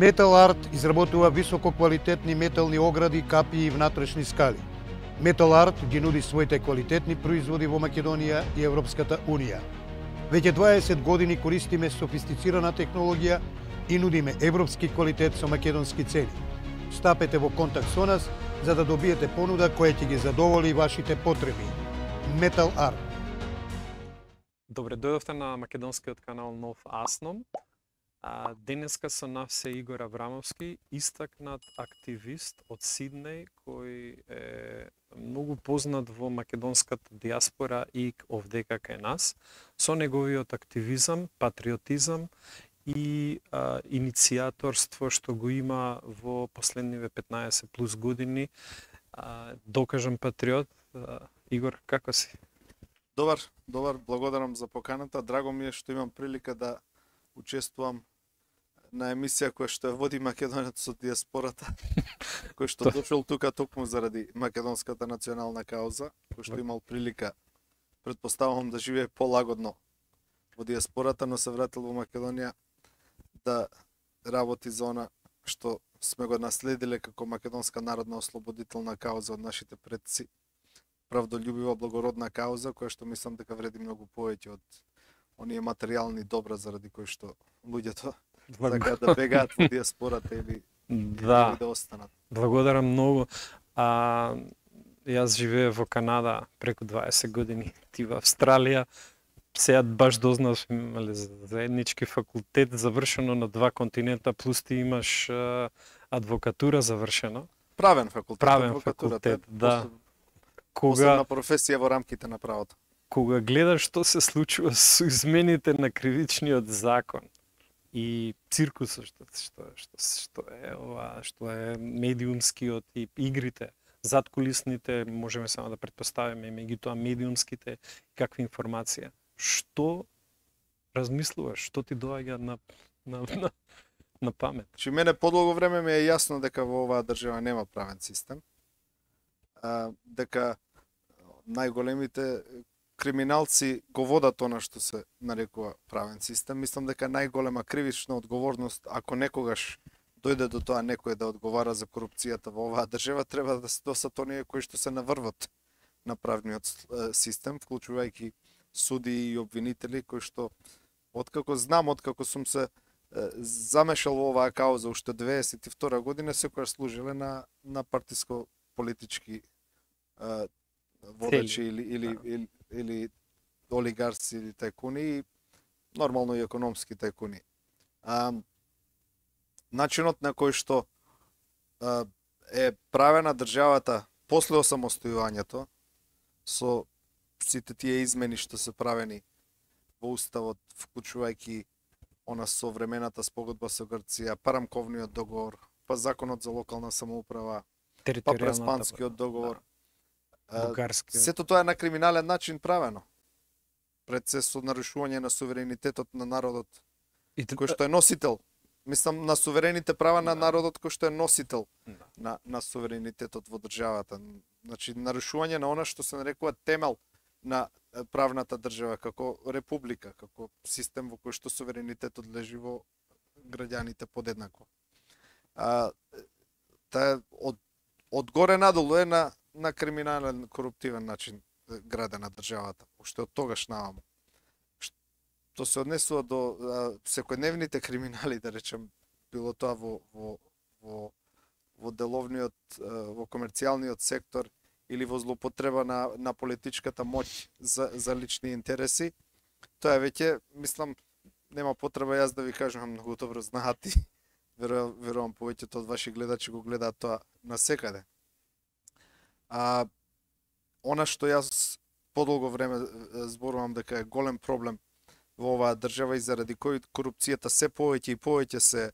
Metal Art изработува висококвалитетни метални огради, капи и внатрешни скали. Metal Art ги нуди своите квалитетни производи во Македонија и Европската Унија. Веќе 20 години користиме софистицирана технологија и нудиме европски квалитет со македонски цени. Стапете во контакт со нас за да добиете понуда која ќе ги задоволи вашите потреби. Metal Art. Добре дојдовте на македонскиот канал Нов Асном. Денеска со нас е Игор Аврамовски, истакнат активист од Сиднеј, кој е многу познат во македонската диаспора и овдека кај нас, со неговиот активизам, патриотизам и иницијаторство што го има во последниве 15 плюс години. Докажан патриот. Игор, како си? Добар, благодарам за поканата. Драго ми е што имам прилика да учествувам на емисија која што води македонецот со диаспората, кој што дошол тука токму заради македонската национална кауза, кој што имал прилика, предпоставувам, да живее полагодно во диаспората, но се вратил во Македонија да работи за она што сме го наследиле како македонска народна ослободителна кауза од нашите предци. Правдолюбива, благородна кауза, која што мислам дека вреди многу повеќе од оние материјални добра заради кои што луѓето така да бегаат во диаспората или да останат. Благодарам многу. Јас живеев во Канада преку 20 години, ти во Австралија. Сега баш дознав, имале заеднички факултет завршено на 2 континента, плюс ти имаш адвокатура завршено. Правен факултет, да. Посебна професија во рамките на правото. Кога гледаш што се случува со измените на кривичниот закон и циркусот што е медиумскиот и игрите, задкулисните, можеме само да претпоставиме, меѓутоа медиумските, какви информација. Што размислуваш, што ти доаѓа на памет? Че мене подолго време ми е јасно дека во оваа држава нема правен систем, дека најголемите криминалци го водат она што се нарекува правен систем. Мислам дека најголема кривична одговорност, ако некогаш дојде до тоа некој да одговара за корупцијата во оваа држава, треба да се досат оние кои што се наврват на правниот систем, вклучувајќи суди и обвинители, кои што, откако сум се замешал во оваа кауза уште 92 година, секојаш служиле на партиско-политички водачи или олигарси или тајкуни и нормално и економски тајкуни. Начинот на кој што е правена државата после осамостојувањето со сите тие измени што се правени во уставот, вклучувајќи она современата спогодба со Грција, па рамковниот договор, па законот за локална самоуправа, па преспанскиот договор. Сето тоа е на криминален начин правено. Пред се со нарушување на суверенитетот на народот, кој што е носител. Мислам на суверените права на народот кој што е носител на суверенитетот во државата. Значи, нарушување на она што се нарекува темел на правната држава, како република, како систем во кој што суверенитетот лежи во граѓаните подеднакво. Од горе надолу е на криминален, коруптивен начин градена државата, уште од тогаш наваму. Што се однесува до секојдневните криминали, да речем, било тоа во деловниот, во комерцијалниот сектор или во злоупотреба на политичката моќ за лични интереси, тоа веќе, мислам, нема потреба јас да ви кажам, многу добро знаат и верувам повеќето од ваши гледачи го гледаат тоа насекаде. Она што јас подолго време зборувам дека е голем проблем во оваа држава и заради кој корупцијата се повеќе и повеќе се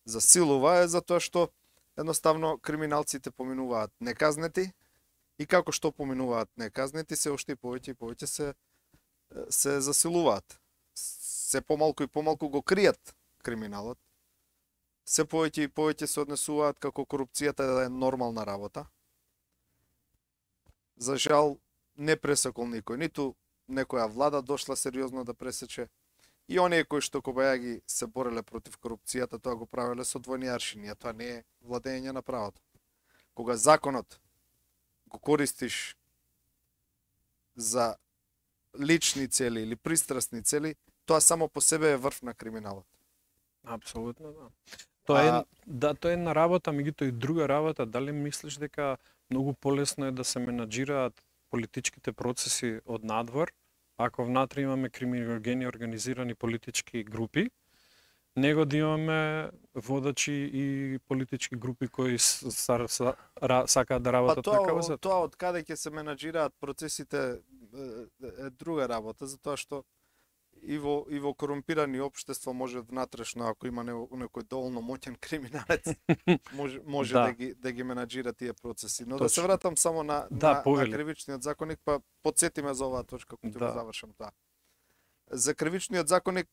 засилува е затоа што едноставно криминалците поминуваат неказнети и како што поминуваат неказнети се уште и повеќе се засилуваат. Се помалку и помалку го кријат криминалот. Се повеќе и повеќе се однесуваат како корупцијата е нормална работа. За жал, не пресекол никој, ниту некоја влада дошла сериозно да пресече, И оние кои што кобајаги се бореле против корупцијата, тоа го правеле со двојни аршини, а тоа не е владење на правото. Кога законот го користиш за лични цели или пристрасни цели, тоа само по себе е врв на криминалот. Апсолутно, да. Тоа е една работа, меѓутоа и друга работа. Дали мислиш дека многу полесно е да се менаџираат политичките процеси од надвор, ако внатре имаме криминогени организирани политички групи, него да имаме водачи и политички групи кои сакаат да работат така во Тоа од каде ќе се менаџираат процесите е друга работа, затоа што и во корумпирани општество може внатрешно, ако има некој доволно моќен криминалец, може да ги менаџира тие процеси. Но да се вратам само на кривичниот законник, па потсетиме за оваа точка кога ќе завршам тоа. За кривичниот законник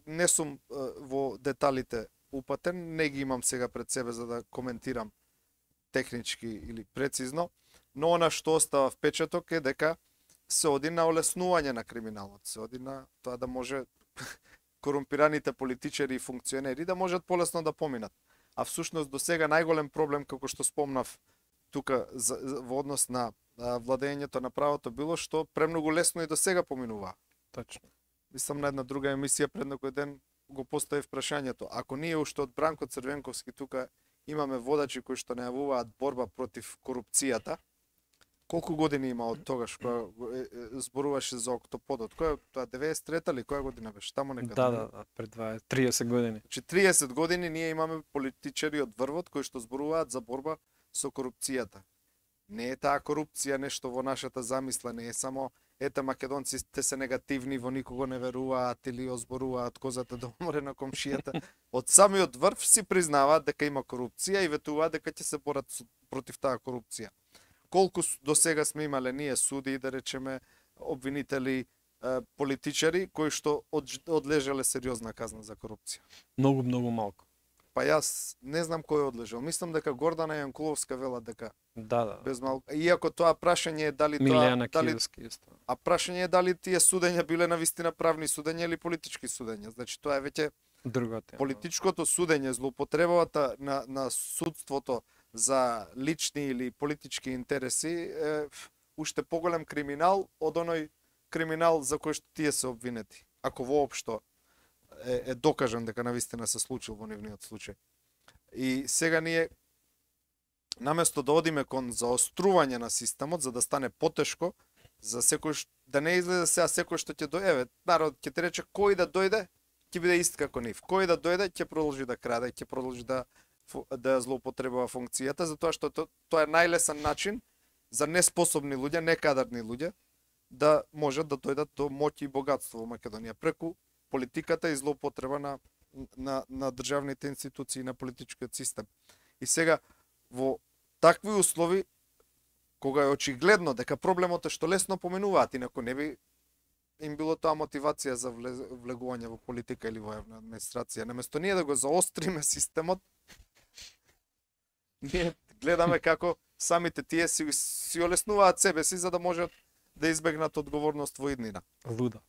не сум во деталите упатен, не ги имам сега пред себе за да коментирам технички или прецизно, но она што остава впечаток е дека се оди на олеснување на криминалот, се оди на тоа да може корумпираните политичари и функционери да можат полесно да поминат. А всушност до сега најголем проблем, како што спомнав тука во однос на владењето на правото, било што премногу лесно и до сега поминува. Точно. Мислам на една друга емисија пред некој ден го поставив прашањето. Ако ние уште од Бранко Црвенковски тука имаме водачи кои што најавуваат борба против корупцијата, колку години има од тогаш кога зборуваше за Октоподот? Која тоа 93-та ли која година беше? Таму некаде. Да, пред 30 години. Значи 30 години ние имаме политичари од врвот кои што зборуваат за борба со корупцијата. Не е таа корупција нешто во нашата замисла, не е само ете македонците се негативни, во никого не веруваат или озборуваат козата да умре на комшијата. Од самиот врв си признаваат дека има корупција и ветуваат дека ќе се борат против таа корупција. Колку до сега сме имале ние суди, да речеме, обвинители, политичари кои што одлежале сериозна казна за корупција? Многу малку. Па јас не знам кој одлежал. Мислам дека Гордана Јанкуловска вела дека без малку. Иако тоа прашање е дали Милијана Киевски исто. А прашање е дали тие судења биле навистина правни судења или политички судења. Значи тоа е веќе друга тема. Политичкото судење, злоупотребата на судството за лични или политички интереси е уште поголем криминал од оној криминал за кој што тие се обвинети. Ако воопшто е докажан дека навистина се случил во нивниот случај. И сега ние наместо да одиме кон заострување на системот за да стане потешко за секој да не излезе сега секој што ќе дојде, народ ќе ти рече кој да дојде ќе биде ист како нив. Кој да дојде ќе продолжи да краде, ќе продолжи да злоупотребува функцијата, затоа што тоа е најлесен начин за неспособни луѓе, некадарни луѓе да можат да дојдат до моќ и богатство во Македонија преку политиката и злоупотреба на државните институции, на политичкиот систем. И сега во такви услови кога е очигледно дека проблемот е што лесно поменуваат, инаку не би им било тоа мотивација за влегување во политика или во јавна администрација. Наместо ние да го заостриме системот, ние гледаме како самите тие си олеснуваат себе си за да можат да избегнат одговорност во иднина. Луда.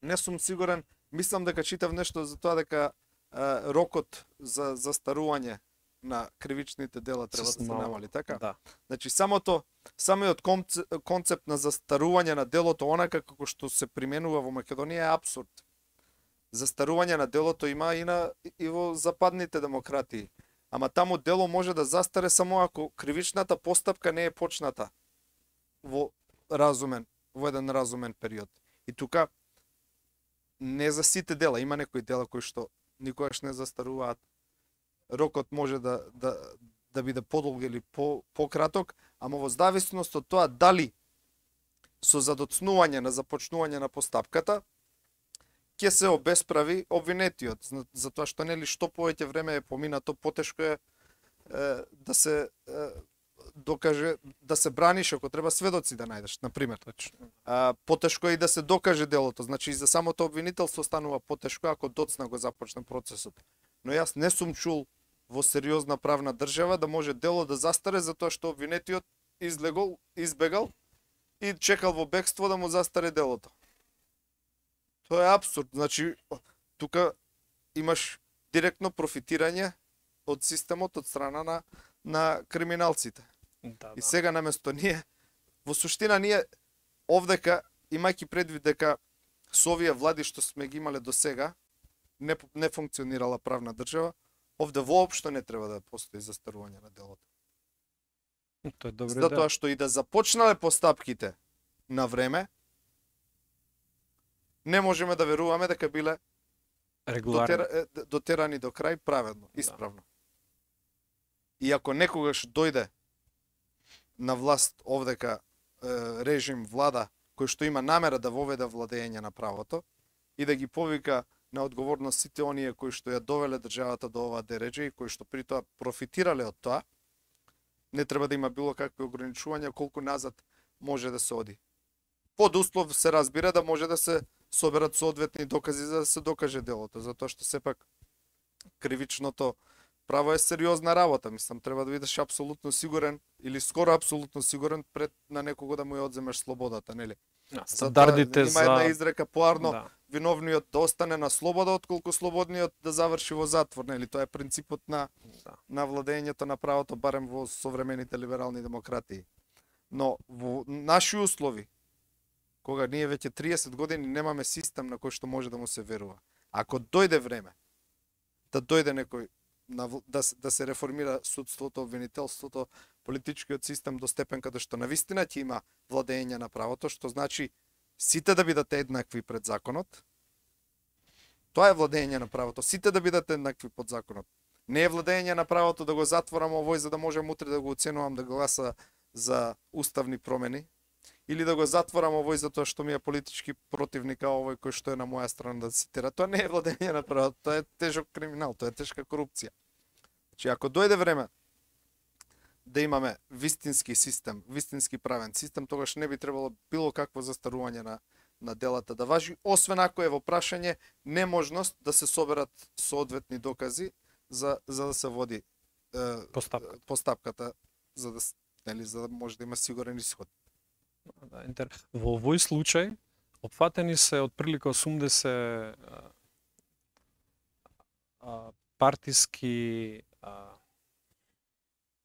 Не сум сигурен, мислам дека читав нешто за тоа дека рокот за застарување на кривичните дела треба да се намали, така? Да. Значи самиот концепт на застарување на делото онака како што се применува во Македонија е апсурд. Застарување на делото има и во западните демократии. Ама таму дело може да застаре само ако кривичната постапка не е почната во еден разумен период. И тука не за сите дела, има некои дела кои што никогаш не застаруваат. Рокот може да биде подолг или пократок, ама во зависност од тоа дали со задоцнување на започнување на постапката ќе се обесправи обвинетиот, затоа што нели што повеќе време е поминато, потешко е да се докаже, да се браниш ако треба сведоци да најдеш, на пример. Потешко е и да се докаже делото, значи и за самото обвинителство станува потешко ако доцна го започне процесот. Но јас не сум чул во сериозна правна држава да може дело да застаре затоа што обвинетиот избегал и чекал во бегство да му застаре делото. Тоа е апсурд. Значи, тука имаш директно профитирање од системот од страна на криминалците. Да, И да. сега наместо ние, во суштина ние овдека, имајќи предвид дека со овие влади што сме ги имале до сега, не функционирала правна држава, овде воопшто не треба да постои застарување на делото. Тоа е добро. Затоа што и да започнале постапките на време, не можеме да веруваме дека биле Регуларно. дотерани до крај праведно, исправно. И ако некогаш дојде на власт овдека режим, влада, кој што има намера да воведе владење на правото и да ги повика на одговорност сите оние кои што ја довеле државата до оваа дереџа и кои што при тоа профитирале од тоа, не треба да има било какви ограничувања колку назад може да се оди. Под услов се разбира да може да се соберат соодветни докази за да се докаже делото, затоа што сепак кривичното право е сериозна работа. Мислам, треба да бидеш апсолутно сигурен или скоро апсолутно сигурен пред на некого да му ја одземеш слободата, нели? Стандардите има една за изрека поарно, да. виновниот да остане на слобода отколку слободниот да заврши во затвор, нели? Тоа е принципот на владењето на правото барем во современите либерални демократии. Но во наши услови, кога ние веќе 30 години немаме систем на кој што може да му се верува. Ако дојде време да дојде некој да се реформира судството, обвинителството, политичкиот систем до степен каде што навистина ќе има владење на правото, што значи сите да бидат еднакви пред законот. Тоа е владење на правото, сите да бидат еднакви под законот. Не е владење на правото да го затворам овој за да можам утре да го оценувам да гласа за уставни промени, или да го затворам овој затоа што ми е политички противник, а овој кој што е на моја страна да се тера. Тоа не е владење на правото, тоа е тежок криминал, тоа е тешка корупција. Значи, ако дојде време да имаме вистински систем, вистински правен систем, тогаш не би требало било какво застарување на делата да важи, освен ако е во прашање неможност да се соберат соодветни докази за да се води постапката за да може да има сигурен исход. Во овој случај опфатени се отприлика 80 партиски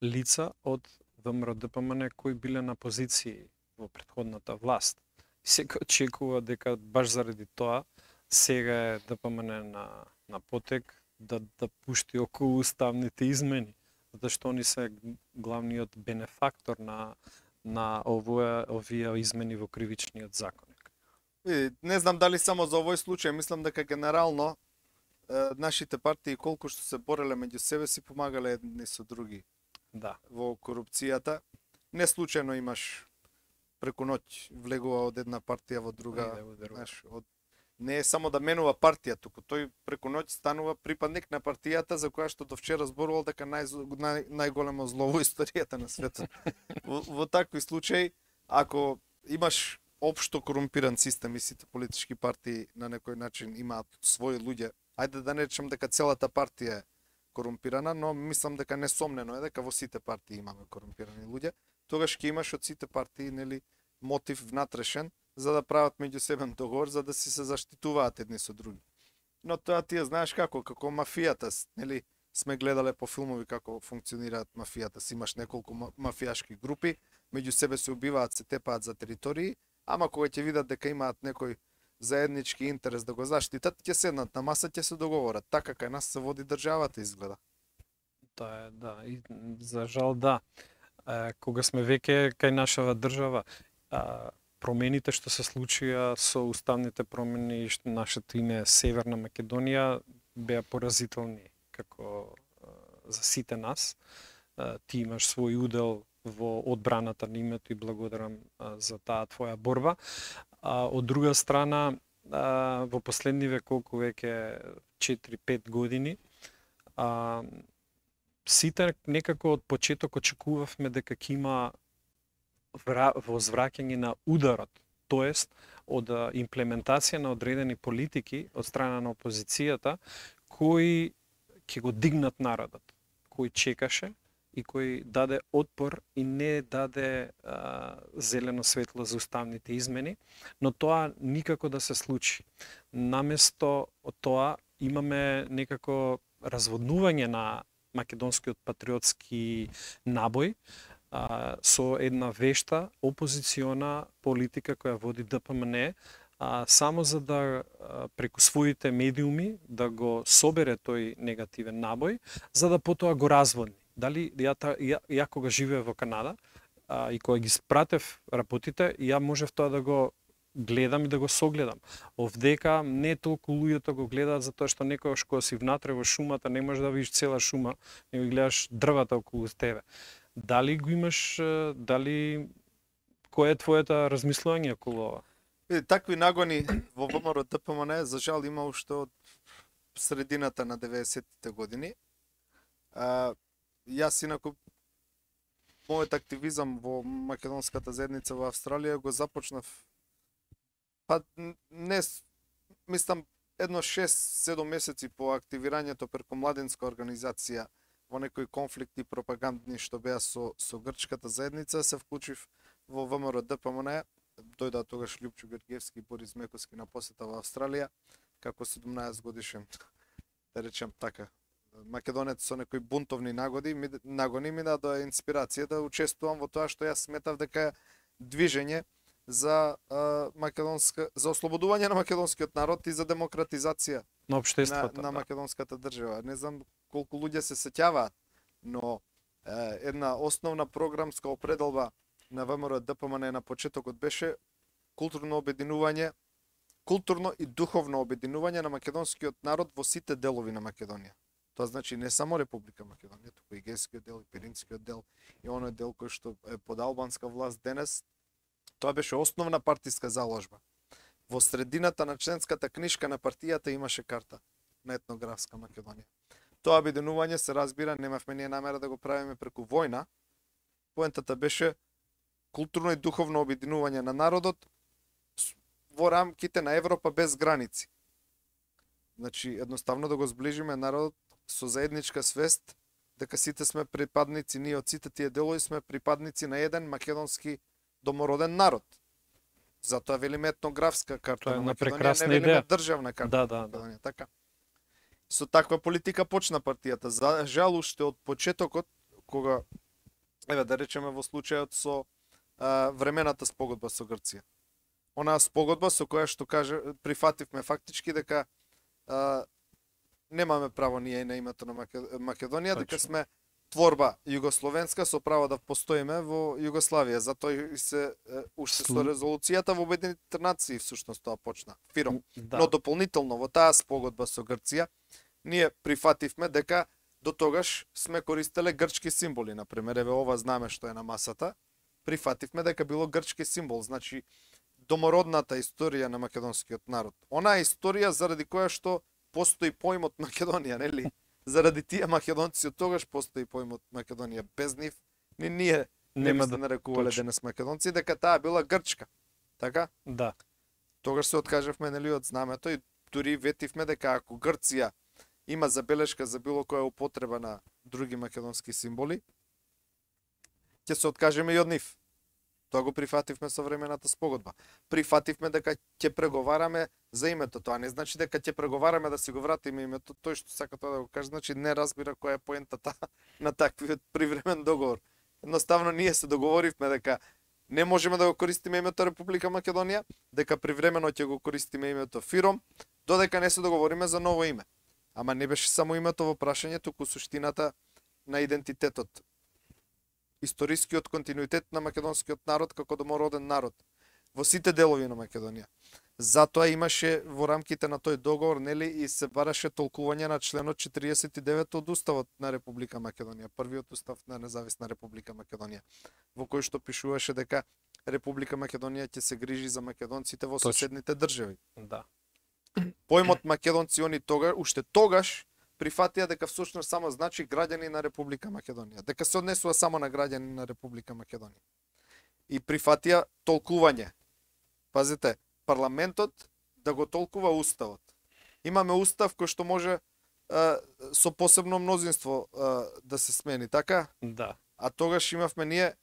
лица од ВМРО-ДПМН кои биле на позиции во претходната власт. Секој очекува дека баш заради тоа сега е ДПМН на потек да пушти околу уставните измени, затоа што они се главниот бенефактор на овие измени во кривичниот законник. Не знам дали само за овој случај, мислам дека генерално нашите партии колку што се бореле меѓу себе си помагале едни со други. Да. Во корупцијата. Не случајно имаш преку ноќ влегува од една партија во друга, знаеш, не е само да менува партија, туку тој преку ноќ станува припадник на партијата за која што до вчера зборувал дека најголемо зло во историјата на светот. Во такви случаи, ако имаш општо корумпиран систем и сите политички партии на некој начин имаат своји луѓе, ајде да не речем дека целата партија е корумпирана, но мислам дека несомнено е дека во сите партии имаме корумпирани луѓе, тогаш ќе имаш од сите партии, нели, мотив внатрешен за да прават меѓусебен договор за да си се заштитуваат едни со други. Но тоа ти знаеш како мафијата, нели, сме гледале по филмови како функционираат мафијата. Си имаш неколку мафијашки групи, меѓу себе се убиваат, се тепаат за територии, ама кога ќе видат дека имаат некој заеднички интерес да го заштитат, ќе седнат на маса, ќе се договорат. Така кај нас се води државата изгледа. Тоа е, да, и за жал да. Кога сме веќе кај нашава држава, промените што се случија со уставните промени и нашето име Северна Македонија беа поразителни како за сите нас. Ти имаш свој удел во одбраната на името и благодарам за таа твоја борба. Од друга страна, во последниве колку веќе 4-5 години, сите некако од почеток очекувавме дека ќе има возвраќање на ударот, тоест од имплементација на одредени политики од страна на опозицијата кои ќе го дигнат народот, кој чекаше и кој даде отпор и не даде зелено светло за уставните измени, но тоа никако да се случи. Наместо тоа имаме некако разводнување на македонскиот патриотски набој со една вешта опозициона политика која води ДПМН, само за да преку своите медиуми да го собере тој негативен набој, за да потоа го разводни. Дали ја кога живеев во Канада и кога ги спратев работите, ја можев тоа да го гледам и да го согледам. Овдека не толку луѓето го гледаат затоа што некојаш кога си внатре во шумата не можеш да видиш цела шума, него ги гледаш дрвата околу тебе. Дали го имаш, кој е твоето размислување околу ова? Такви нагони во ВМРО ДПМН за жал има уште од средината на 90-тите години. Јас инаку мојот активизам во македонската заедница во Австралија го започнав не мислам едно 6-7 месеци по активирањето преку младинска организација во некои конфликти пропагандни што беа со грчката заедница, се вклучив во ВМРО ДПМН. Дојдоа тогаш Љупчо Георгиевски и Борис Мековски на посета во Австралија како 17 годишен, да речем така, македонец со некои бунтовни нагони ми даде инспирација да учествувам во тоа што јас сметав дека е движење за за ослободување на македонскиот народ и за демократизација на општеството на македонската држава. Не знам колку луѓе се сеќаваат, но една основна програмска определба на ВМРО ДПМН на почетокот беше културно и духовно обединување на македонскиот народ во сите делови на Македонија. Тоа значи не само Република Македонија, туку и Егејскиот дел, и Пиринскиот дел, и оној дел кој што е под албанска власт денес. Тоа беше основна партиска заложба. Во средината на членската книшка на партијата имаше карта на етнографска Македонија. Тоа обединување се разбира, немавме ние намера да го правиме преку војна. Поентата беше културно и духовно обединување на народот во рамките на Европа без граници. Значи, едноставно да го зближиме народот со заедничка свест дека сите сме припадници, ние од сите тие делови сме припадници на еден македонски домороден народ. Затоа велиме етнографска карта на Македонија, не велиме државна карта на Македонија. Така. Со таква политика почна партијата. За жал уште од почетокот, кога, да речеме во случајот со времената спогодба со Грција. Онаа спогодба со која што прифативме фактички дека немаме право ние на името на Македонија, дека сме творба југословенска со право да постоиме во Југославија. Затоа и се уште со резолуцијата во Обединетите нации всушност тоа почна. Фиром. Да. Но дополнително во таа спогодба со Грција ние прифативме дека до тогаш сме користеле грчки символи, например, еве ова знаме што е на масата. Прифативме дека било грчки символ, значи домородната историја на македонскиот народ. Онаа историја заради која што постои поимот Македонија, нели? Заради тие македонци од тогаш постои поимот Македонија. Без нив ни ние не би се нарекувале денес македонци, дека таа била грчка. Така? Да. Тогаш се откажавме, нели, од знамето и дури ветивме дека ако Грција има забелешка за било која употреба на други македонски символи, ќе се откажеме и од нив. Тоа го прифативме со времената спогодба. Прифативме дека ќе преговараме за името. Тоа не значи дека ќе преговараме да си го вратиме името. Тој што сака тоа да го каже, значи не разбира која е поентата на таквиот привремен договор. Едноставно ние се договоривме дека не можеме да го користиме името Република Македонија, дека привремено ќе го користиме името Фиром, додека не се договориме за ново име. Ама не беше само името во прашање, туку суштината на идентитетот. Историскиот континуитет на македонскиот народ како домороден народ во сите делови на Македонија. Затоа имаше во рамките на тој договор, нели, и се бараше толкување на членот 49 од Уставот на Република Македонија, првиот устав на независна Република Македонија, во кој што пишуваше дека Република Македонија ќе се грижи за македонците во соседните држави. Да. Поимот македонци они уште тогаш прифатија дека всушност само значи граѓани на Република Македонија, дека се однесува само на граѓани на Република Македонија. И прифатија толкување. Пазите, парламентот да го толкува уставот. Имаме устав кој што може со посебно мнозинство да се смени, така? Да. А тогаш имавме ние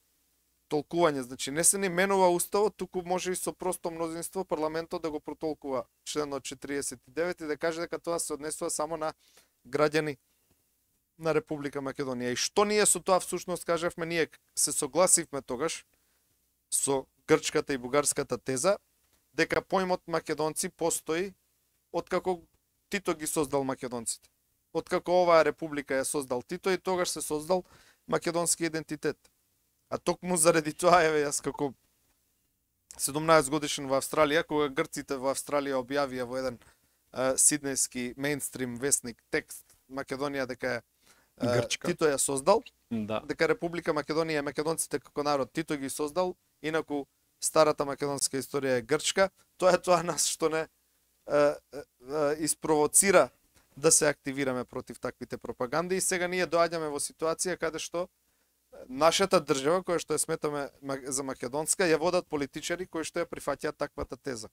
толкување, значи не се ни менува уставот, туку може и со просто мнозинство парламентот да го протолкува членот 49 и да каже дека тоа се однесува само на граѓани на Република Македонија. И што ние со тоа всушност кажавме, ние се согласивме тогаш со грчката и бугарската теза дека поимот македонци постои откако Тито ги создал македонците. Откако оваа република ја создал Тито и тогаш се создал македонски идентитет. А токму заради тоа јас како 17 годишен во Австралија, кога грците во Австралија објавија во еден сиднејски мејнстрим весник текст Македонија дека Тито ја создал, да. дека Република Македонија и македонците како народ Тито ги создал, инаку старата македонска историја е грчка, тоа е тоа нас што не испровоцира да се активираме против таквите пропаганди и сега ние доаѓаме во ситуација каде што нашата држава, која што ја сметаме за македонска, ја водат политичари кои што ја прифаќаат таквата теза.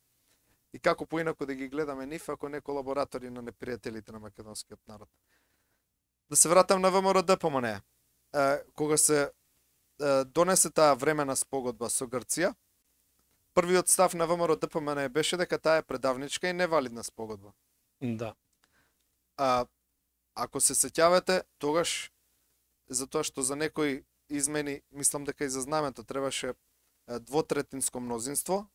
И како поинаку да ги гледаме нив, ако не колаборатори на непријателите на македонскиот народ. Да се вратам на ВМРО ДПМН. Кога се донесе таа времена спогодба со Грција, првиот став на ВМРО ДПМН беше дека таа е предавничка и невалидна спогодба. Да. Ако се сеќавате, тогаш затоа што за некои измени, мислам дека и за знамето требаше двотретинско мнозинство,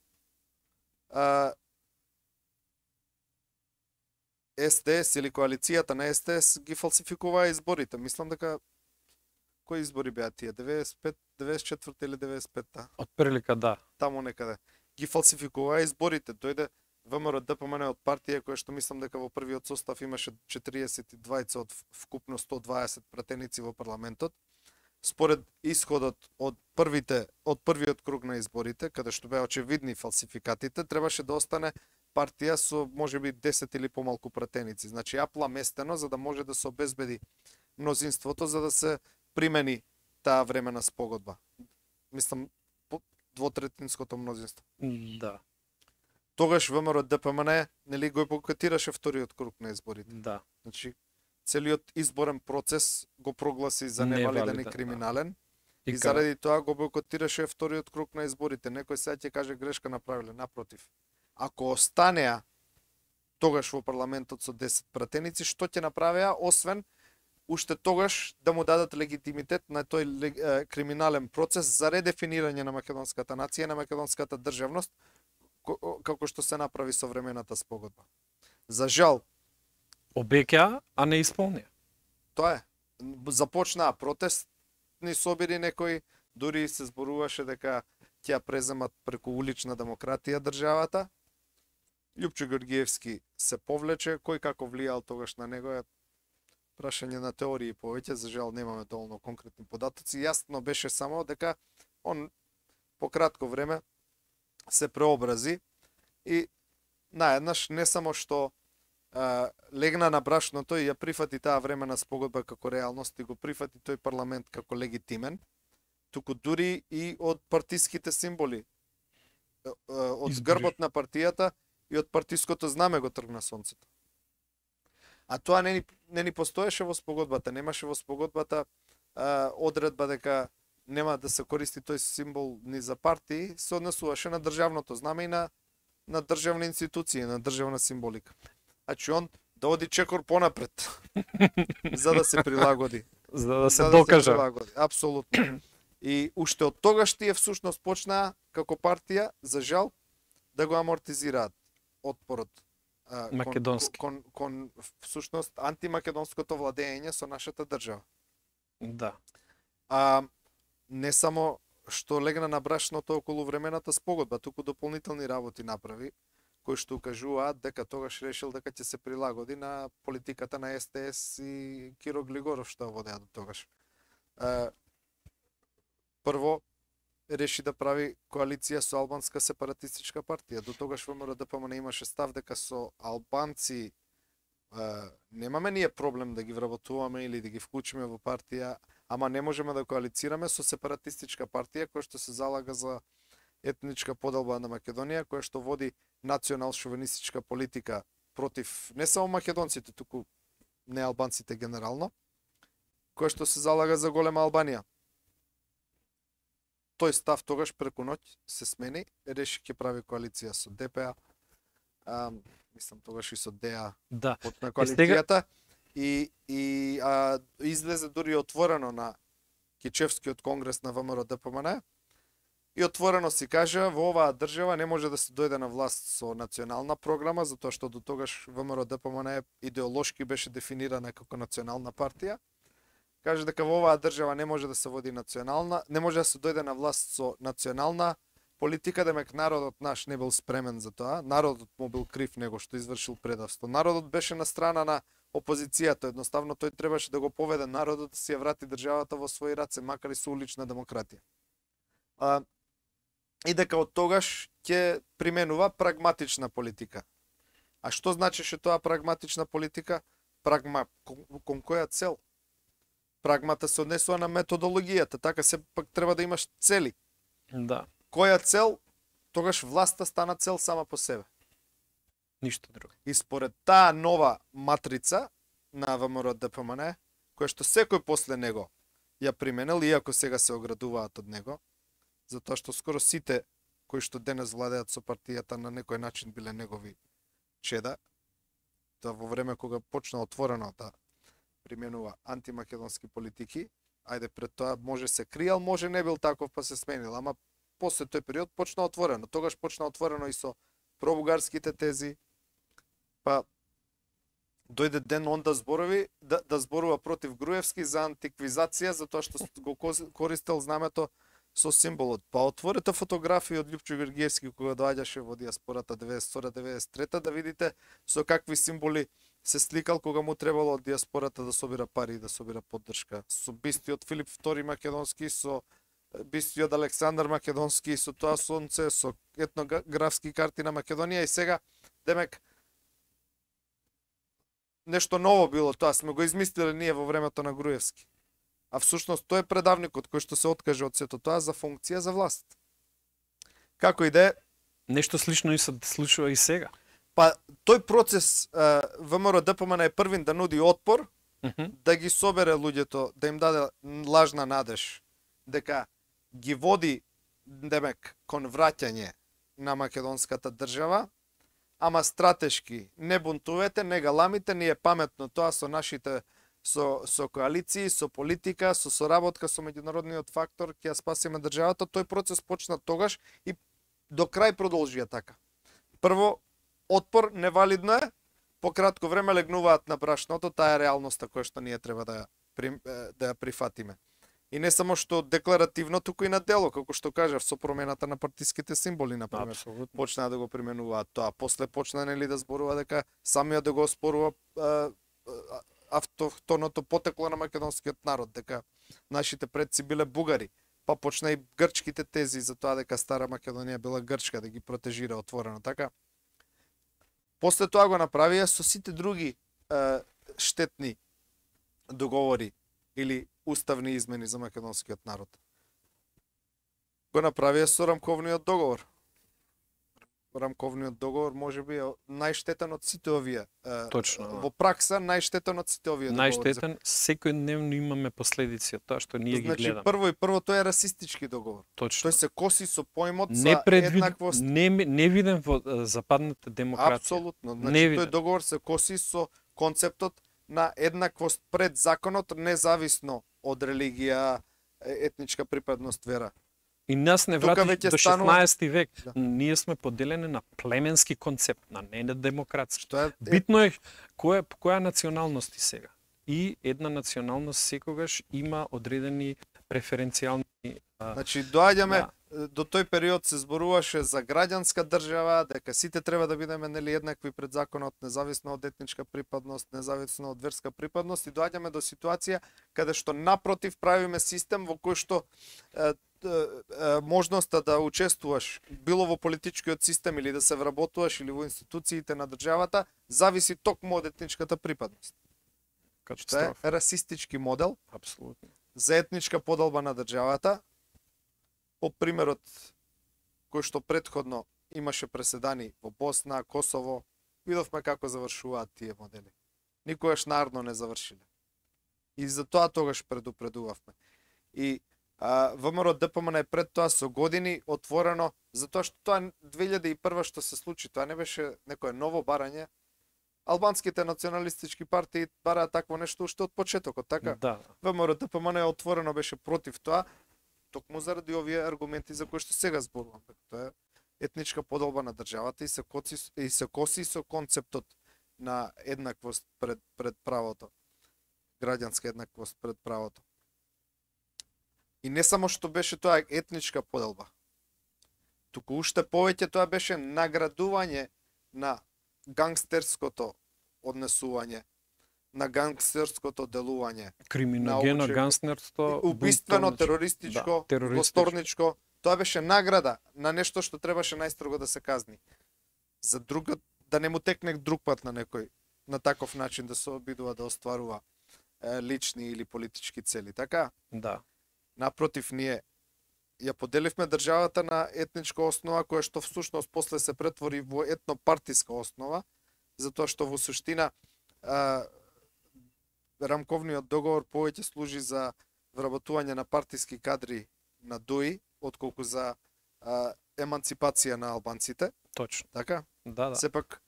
СДС или коалицијата на СДС ги фалсификуваа изборите. Мислам дека кои избори беа тие? 95, 94 или 95-та? Од прилика да. Таму некаде. Ги фалсификуваа изборите. Дојде ВМРО ДПМН од партија која што мислам дека во првиот состав имаше 42 од вкупно 120 пратеници во парламентот. Според исходот од првиот круг на изборите, каде што беа очевидни фалсификатите, требаше да остане партија со можеби 10 или помалку пратеници. Значи апламестено за да може да се обезбеди мнозинството за да се примени таа времена спогодба. Мислам двотретинското мнозинство. Да. Тогаш ВМРО ДПМН нели го бойкотираше вториот круг на изборите. Да. Значи целиот изборен процес го прогласи за невалиден и криминален. И заради тоа го бойкотираше вториот круг на изборите. Некој сега ќе каже грешка направиле, напротив. Ако останеа тогаш во парламентот со 10 пратеници, што ќе направеа освен уште тогаш да му дадат легитимитет на тој криминален процес за редефинирање на македонската нација, на македонската државност, како што се направи со времената спогодба. За жал, обеќа, а не исполнија. Тоа е. Започнаа протестни собири некои, дури се зборуваше дека ќе ја преземат преку улична демократија државата. Љупчо Георгиевски се повлече, кој како влијал тогаш на него е прашање на теории повеќе, за жал немаме доволно конкретни податоци. Јасно беше само дека он по кратко време се преобрази и наеднаш не само што легна на брашното и ја прифати таа времена спогодба како реалност и го прифати тој парламент како легитимен, туку дури и од партиските символи, од грбот на партијата и од партиското знаме го тргна сонцето. А тоа не ни постоеше во спогодбата, немаше во спогодбата одредба дека нема да се користи тој символ ни за партии, се однесуваше на државното знаме и на државни институции, на државна символика. Значи он да оди чекор понапред за да се прилагоди. За да се докаже. Апсолутно. И уште од тогаш тие всушност почнаа како партија, за жал, да го амортизираат отпорот македонски кон всушност антимакедонското владење со нашата држава. Да. Не само што легна на брашното околу времената спогодба, туку дополнителни работи направи, кои што укажуваат дека тогаш решил дека ќе се прилагоди на политиката на СТС и Киро Глигоров што водеа до тогаш. Прво, реши да прави коалиција со албанска сепаратистичка партија. До тогаш ВМРО ДПМН имаше став дека со албанци немаме ние проблем да ги вработуваме или да ги вклучиме во партија, ама не можеме да коалицираме со сепаратистичка партија која што се залага за етничка поделба на Македонија, која што води национал-шовинистичка политика против не само македонците, туку неалбанците генерално, кој што се залага за голема Албанија. Тој став тогаш преку ноќ се смени, реши ќе прави коалиција со ДПА, мислам тогаш и со ДА Да. на коалицијата и излезе дури отворено на Кичевскиот конгрес на ВМРО ДПМН и отворено си кажа во оваа држава не може да се дојде на власт со национална програма, затоа што до тогаш ВМРО ДПМН идеолошки беше дефинирана како национална партија. Каже дека во оваа држава не може да се води национална, не може да се дојде на власт со национална политика, демек народот наш не бил спремен за тоа, народот му бил крив него што извршил предавство. Народот беше на страна на опозицијата, едноставно тој требаше да го поведе народот да си ја врати државата во своји раце, макар и со улична демократија. И дека од тогаш ќе применува прагматична политика. А што значеше тоа прагматична политика? Кон која цел? Прагмата се однесува на методологијата, така се пак треба да имаш цели. Да. Која цел? Тогаш власта стана цел сама по себе. Ништо друго. И според таа нова матрица на ВМРО ДПМН, која што секој после него ја применил, иако сега се оградуваат од него, затоа што скоро сите кои што денес владеат со партијата на некој начин биле негови чеда, тоа во време кога почна отворено да применува антимакедонски политики, ајде пред тоа може се криел, може не бил таков па се сменил, ама после тој период почна отворено. Тогаш почна отворено и со пробугарските тези, па дојде ден он да зборови, да зборува против Груевски за антиквизација, затоа што го користел знамето со символот. Па отворете фотографии од Љупчо Георгиевски кога доаѓаше во диаспората 92-93, да видите со какви символи се сликал кога му требало од диаспората да собира пари и да собира поддршка. Со бистиот Филип II Македонски, со бистиот Александар Македонски, со тоа сонце, со етнографски карти на Македонија и сега, демек, нешто ново било тоа, сме го измислили ние во времето на Груевски. А всушност тој е предавникот кој што се откаже од сето тоа за функција за власт. Како и да е, Нешто слично и се случува и сега. па тој процес ВМРО ДПМН е првин да нуди отпор, да ги собере луѓето, да им даде лажна надеж дека ги води демек кон враќање на македонската држава, ама стратешки не бунтувете, не галамите, ни е паметно тоа со нашите со коалиции, со политика, со соработка со меѓународниот фактор ќе ја спасиме државата. Тој процес почна тогаш и до крај продолжија така. Прво, отпор невалидно е, по кратко време легнуваат на брашното, таа е реалноста која што ние треба да ја прифатиме. И не само што декларативно, туку и на дело, како што кажав, со промената на партиските символи, например. Апсолутно. Почнаа да го применуваат тоа. После почна нели да зборува дека самиот да го оспорува автохтоното потекло на македонскиот народ, дека нашите предци биле бугари. Па почна и грчките тези за тоа дека Стара Македонија била грчка, да ги протежира отворено. Така, после тоа го направија со сите други штетни договори или уставни измени за македонскиот народ. Го направија со рамковниот договор. Рамковниот договор можеби е најштетен од сите овие. Точно. Во пракса најштетен од сите овие договори. Најштетен, секојдневно имаме последици од тоа што ние ги гледаме. Значи прво тој е расистички договор. Точно. Тој се коси со поимот за еднаквост. Не виден во западната демократија. Апсолутно. Значи тој договор се коси со концептот на еднаквост пред законот, независно од религија, етничка припадност, вера. И нас не врати до 16 век. Да. Ние сме поделени на племенски концепт, не на демократски. Што е Битно е која националност и сега. И една националност секогаш има одредени преференцијални Значи доаѓаме до тој период се зборуваше за граѓанска држава, дека сите треба да бидеме нели еднакви пред законот, независно од етничка припадност, независно од верска припадност, и доаѓаме до ситуација каде што напротив правиме систем во кој што можноста да учествуваш било во политичкиот систем или да се вработуваш или во институциите на државата зависи токму од етничката припадност. Што е расистички модел. Апсолутно. За етничка поделба на државата, по примерот кој што претходно имаше преседани во Босна, Косово, видовме како завршуваат тие модели. никогаш наредно не завршиле. И за тоа тогаш предупредувавме. И ВМРО ДПМН пред тоа со години отворено, затоа што тоа 2001 што се случи, тоа не беше некое ново барање. Албанските националистички партии бараат такво нешто уште од почетокот, така? Да. ВМРО ДПМН отворено беше против тоа, токму заради овие аргументи за кои што сега зборувам. Тоа е етничка поделба на државата и се коси со концептот на еднаквост пред правото. Граѓанска еднаквост пред правото. И не само што беше тоа етничка поделба, туку уште повеќе тоа беше наградување на гангстерското однесување, на гангстерското делување. Криминогено, гангстерство, убиствено, терористичко, злосторничко. Тоа беше награда на нешто што требаше најстрого да се казни. За другот, да не му текне друг пат на некој, на таков начин да се обидува да остварува лични или политички цели, така? Да. Напротив, ние ја поделивме државата на етничка основа, која што всушност после се претвори во етнопартиска основа, затоа што во суштина рамковниот договор повеќе служи за вработување на партиски кадри на ДОИ, отколку за еманципација на албанците. Точно. Така? Да. Сепак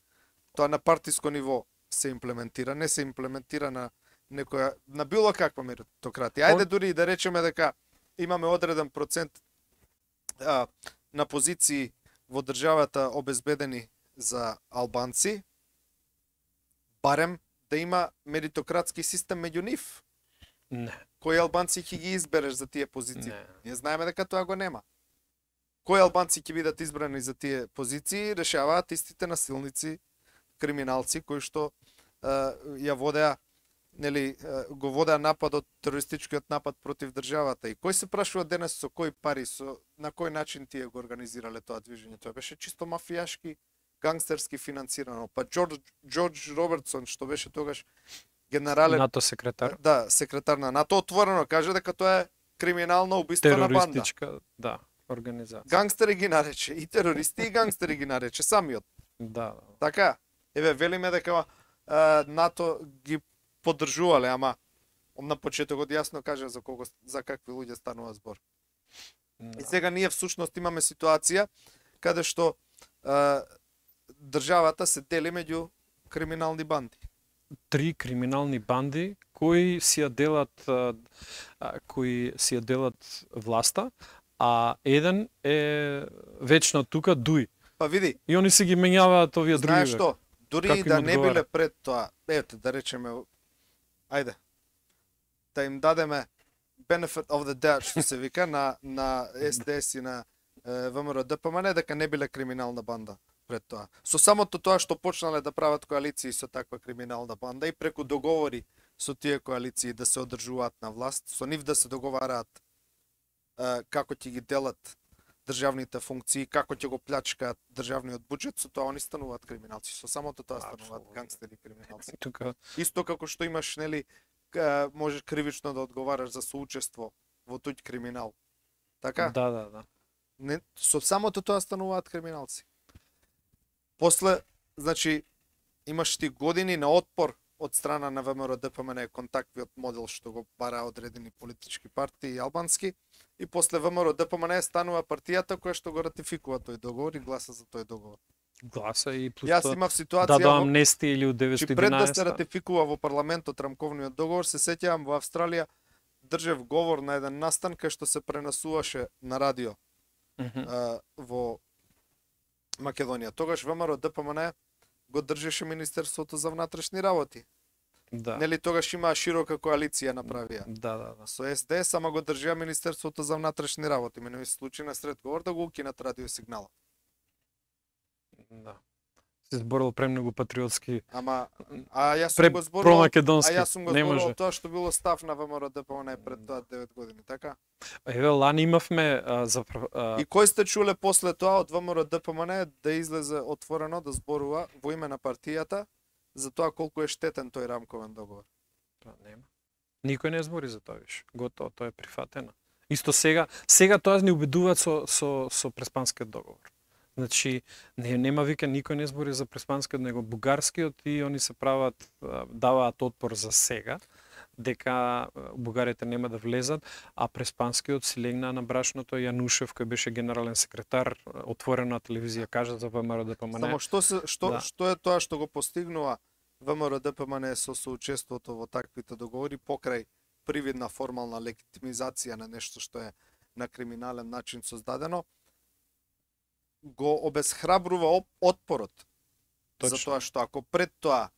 тоа на партиско ниво се имплементира, не се имплементира на некоја, на било каква меритократија. Ајде дури и да речеме дека имаме одреден процент на позиции во државата обезбедени за албанци, барем да има меритократски систем меѓу нив. Не. Кои албанци ќе ги избереш за тие позиции? Не. Ние знаеме дека тоа го нема. Кои албанци ќе бидат избрани за тие позиции, решаваат истите насилници, криминалци кои што ја водеа, нели, го водеа нападот, терористичкиот напад против државата. И кој се прашува денес со кои пари, на кој начин тие го организирале тоа движење? Тоа беше чисто мафијашки, гангстерски финансирано. Па Џорџ Робертсон, што беше тогаш генерален НАТО секретар. Да, секретар на НАТО, отворено каже дека тоа е криминална убиствена банда. Терористичка, да, организација. Гангстери ги нарече, и терористи, и гангстери ги нарече самиот. Да. Така, еве велиме дека НАТО ги поддржувале, ама на почетокот јасно кажа за какви луѓе станува збор. Да. И сега ние всушност имаме ситуација каде што државата се дели меѓу криминални банди. 3 криминални банди кои си ја делат власта, а еден е вечно тука ДУИ. Па види, И они си ги менјаваат овие други. знаеш што? Дури Како и им да не одговара? биле пред тоа, ете да речеме, ајде, да им дадеме benefit of the doubt, што се вика, на СДС и на ВМРО ДПМН, дека не биле криминална банда пред тоа. Со самото тоа што почнале да прават коалиции со таква криминална банда и преку договори со тие коалиции да се одржуваат на власт, со нив да се договараат како ќе ги делат државните функции, како ќе го плячкаат државниот буџет, со тоа они стануваат криминалци. Со самото тоа стануваат гангстери криминалци. Тука Исто како што имаш, нели, можеш кривично да одговараш за соучество во туѓ криминал. Така? да. Не, со самото тоа стануваат криминалци. После, значи, имаш ти години на отпор од страна на ВМРО ДПМН кон таквиот модел што го бара одредени политички партии албански, и после ВМРО ДПМН станува партијата која што го ратификува тој договор и гласа за тој договор. Гласа и плюс Јас тоа имав ситуација до амнестија или од че пред да се 911. ратификува во парламентот рамковниот договор, се сеќавам во Австралија држев говор на еден настан кај што се пренесуваше на радио во Македонија. Тогаш ВМРО ДПМН го држеше Министерството за внатрешни работи. Да. Нели тогаш имаа широка коалиција направија. Да. Со СДС, ама го држеа Министерството за внатрешни работи. Мене ми се случи на сред говор да го укинат радиосигнала. Да. Се зборил премногу патриотски, Ама јас сум го зборувал, промакедонски. јас сум го Не зборувал може. тоа што било став на ВМРО ДПМН пред тоа 9 години, така? Еве лани имавме И кој сте чуле после тоа од ВМРО ДПМН да излезе отворено да зборува во име на партијата за тоа колку е штетен тој рамковен договор? Нема. Никој не збори за тоа више. Готово, тоа е прифатено. Исто сега тоа ни убедуваат со Преспанскиот договор. Значи, нема вика, никој не збори за преспанскиот, него бугарскиот и они се прават, даваат отпор за сега, дека бугарите нема да влезат, а преспанскиот си легна на брашното. Јанушев, кој беше генерален секретар, отворено на телевизија кажа за ВМРО-ДПМН. Само што е тоа што го постигнува ВМРО-ДПМН со соучеството во таквите договори покрај привидна формална легитимизација на нешто што е на криминален начин создадено, го обезхрабрува отпорот. Точно. Затоа што ако пред тоа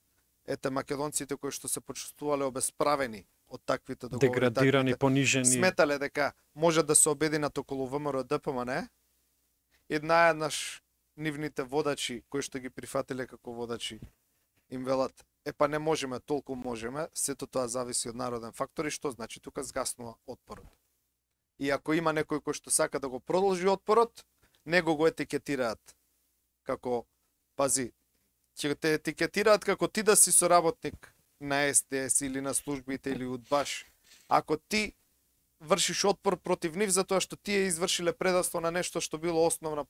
македонците кои што се почувствувале обесправени од таквите договори, деградирани, понижени, сметале дека може да се обединат околу ВМРО-ДПМН, еднаш нивните водачи кои што ги прифатиле како водачи им велат: па не можеме, толку можеме, сето тоа зависи од народен фактор. И што значи? Тука згаснува отпорот. И ако има некој кој што сака да го продолжи отпорот, него го етикетираат како, пази, ќе те етикетираат како ти да си соработник на СДС или на службите или удбаш. Ако ти вршиш отпор против нив затоа што тие извршиле предавство на нешто што било основна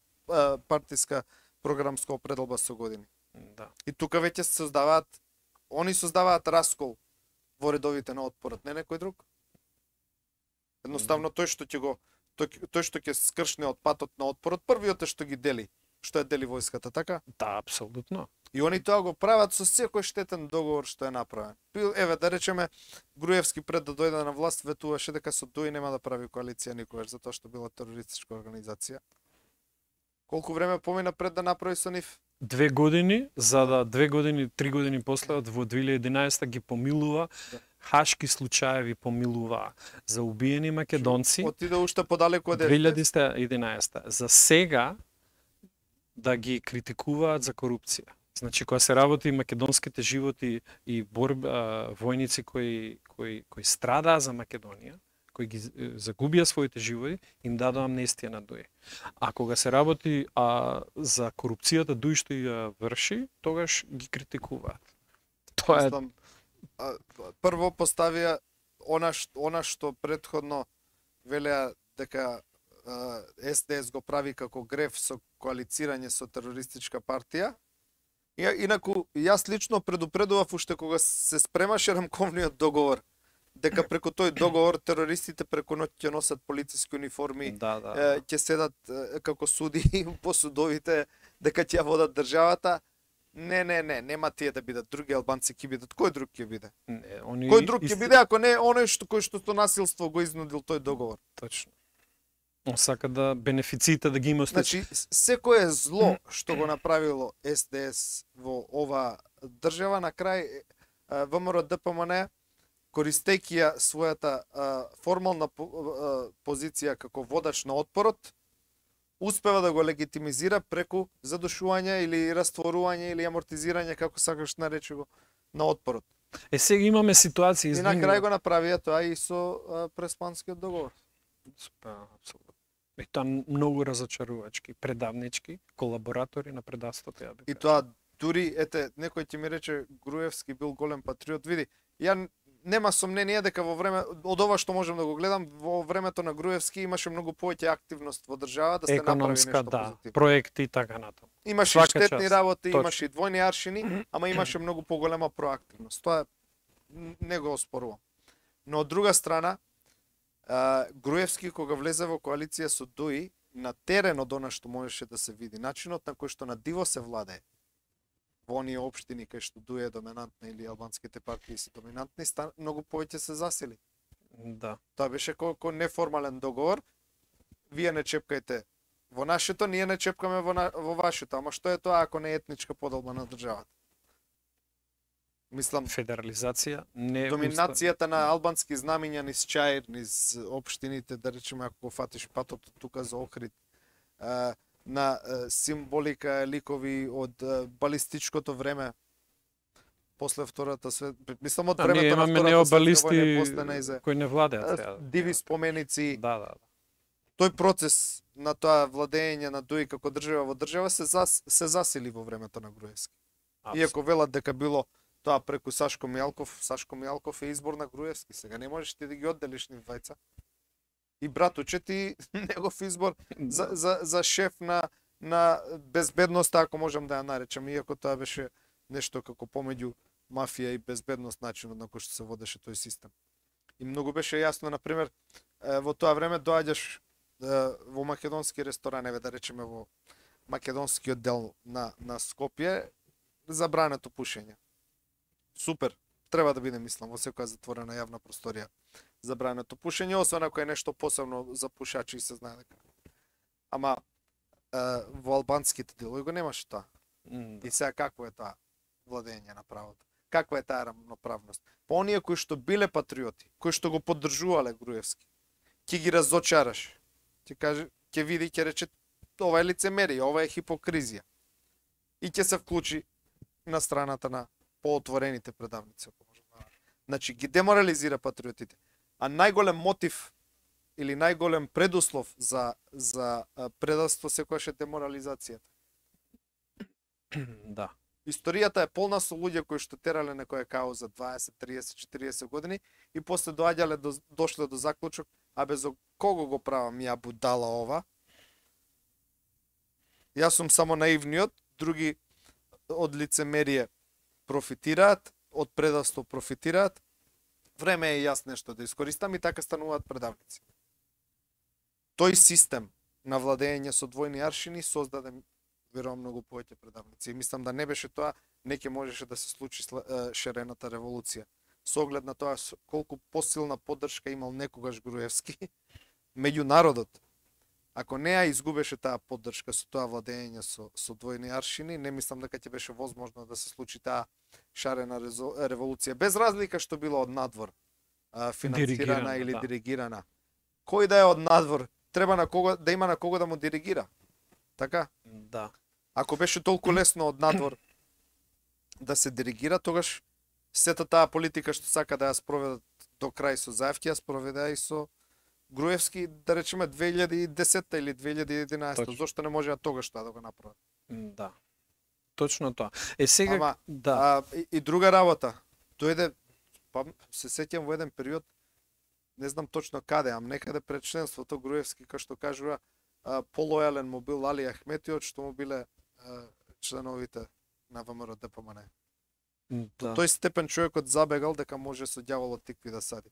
партиска програмска определба со години. Да. И тука веќе се создаваат раскол во редовите на отпорот, не некој друг. Едноставно тој што ќе скршне од патот на отпорот, првиот е што ги дели, што е дели војската, така? Да, апсолутно. И они тоа го прават со секој штетен договор што е направен. Еве, да речеме, Груевски пред да дојде на власт ветуваше дека со ДОИ нема да прави коалиција никогаш, затоа што била терористичка организација. Колку време помина пред да направи со нив? 2 години, за да 2 години, 3 години после, во 2011 ги помилува, хашки случаеви помилува за убиени македонци. Отиде уште подалеку од 2011. За сега да ги критикуваат за корупција. Значи, кога се работи македонските животи и војници кои страдаа за Македонија, кои ги загубија своите животи, им дадоа амнестија на ДОИ. А кога се работи за корупцијата ДОИ што ја врши, тогаш ги критикуваат. Тоа е... Прво поставија она што претходно велеа дека СДС го прави како греф со коалицирање со терористичка партија. Инаку, јас лично предупредував уште кога се спремаше рамковниот договор, дека преку тој договор терористите преку ноќ ќе носат полициски униформи, ќе седат како суди по судовите, дека ќе водат државата. Нема тие да бидат, други албанци ќе бидат. Кој друг ќе биде? Кој друг ќе биде ако не оној кој што со насилство го изнудил тој договор? Точно. Он сака да бенефициите да ги има. Значи, секое зло што го направило СДС во ова држава, на крај ВМРО-ДПМН, користејќи ја својата формална позиција како водач на отпорот, успева да го легитимизира преку задушување или растворување или амортизирање, како сакаш нарече го, на отпорот. Сега имаме ситуација... И на крај го направија тоа и со преспанскиот договор. Апсолутно. И тоа многу разочарувачки, предавнички, колаборатори на предавството. И тоа дури, некој ќе ми рече Груевски бил голем патриот. Види, ја нема сомнение дека во време од ова што можам да го гледам, во времето на Груевски имаше многу повеќе активност во држава да се направи нешто позитивно. Проекти и така натаму. Имаше штетни работи, имаше и двојни аршини, ама имаше многу поголема проактивност. Тоа не го оспорувам. Но од друга страна, Груевски кога влезе во коалиција со ДОИ, на терен од она што можеше да се види, начинот на кој што на диво се владее во оние општини кај што ДОИ е доминантна или албанските партии се доминантни, многу повеќе се засили. Да. Тоа беше како неформален договор. Вие не чепкајте во нашето, ние не чепкаме во вашето. Ама што е тоа ако не е етничка поделба на државата? Мислам, федерализација, доминацијата на албански знамиња низ Чаир, низ општините, да речеме, ако го фатиш патот тука за Охрид, на символика, ликови од балистичкото време, после Втората светска, мислам од времето на Втората светска војна, после нејзе, кои не владеат. Диви споменици. Да. Тој процес на тоа владење на ДОИ како држава во држава се засили во времето на Груевски. Иако велат дека било тоа преку Сашко Мијалков е избор на Груевски. Сега не можеш ти да ги одделиш нив двајца. И братуче ти негов избор за шеф на безбедноста, ако можам да ја наречам, иако тоа беше нешто како помеѓу мафија и безбедност начинот на кој што се водеше тој систем. И многу беше јасно, на пример, во тоа време доаѓаш во македонски ресторан, еве да речеме во македонскиот дел на Скопје, забрането пушење. Супер, треба да биде, мислам, во секоја затворена јавна просторија забрането пушење, освен ако е нешто посебно за пушачи и се знае дека. Ама во албанските делови го немаше тоа. И сега какво е тоа владење на правото? Каква е таа рамноправност? Па оние кои што биле патриоти, кои што го поддржувале Груевски, ќе ги разочараш. Ќе каже, ќе види, ќе рече ова е лицемерие, ова е хипокризија. И ќе се вклучи на страната на поотворените предавници, ако може. Значи ги деморализира патриотите. А најголем мотив или најголем предуслов за предавство секогаш е деморализацијата. Да. Историјата е полна со луѓе кои што терале некоја кауза 20, 30, 40 години и после дошле до заклучок, а без кого го правам ја будала ова? Јас сум само наивниот, други од лицемерие профитираат, од предавство профитираат. Време е јас нешто да искористам и така стануваат предавници. Тој систем на владење со двојни аршини создаде верувам многу повеќе предавници. И мислам да не беше тоа, не ќе можеше да се случи шарената револуција. Со оглед на тоа колку посилна поддршка имал некогаш Груевски меѓу народот. Ако не ја изгубеше таа поддршка со тоа владење со двојни аршини, не мислам дека ќе беше возможно да се случи таа шарена револуција, без разлика што било од надвор финансирана или диригирана. Кој да е од надвор, треба да има на кого да му диригира. Така? Да. Ако беше толку лесно од надвор да се диригира, тогаш сета таа политика што сака да ја спроведат до крај со Заевски, ја спроведе и со Груевски, да речеме 2010 или 2011. Точно. Зошто не можеа тогаш тоа да го направат? Да. Точно тоа. Сега Ама, да. И друга работа. Дојде, па се сеќам во еден период, не знам точно каде, ам некаде пред членството Груевски, кај што кажува, полојален му бил Али Ахметиот, што му биле членовите на ВМРО ДПМН. Да. Тој степен човекот забегал дека може со ѓаволот тикви да сади.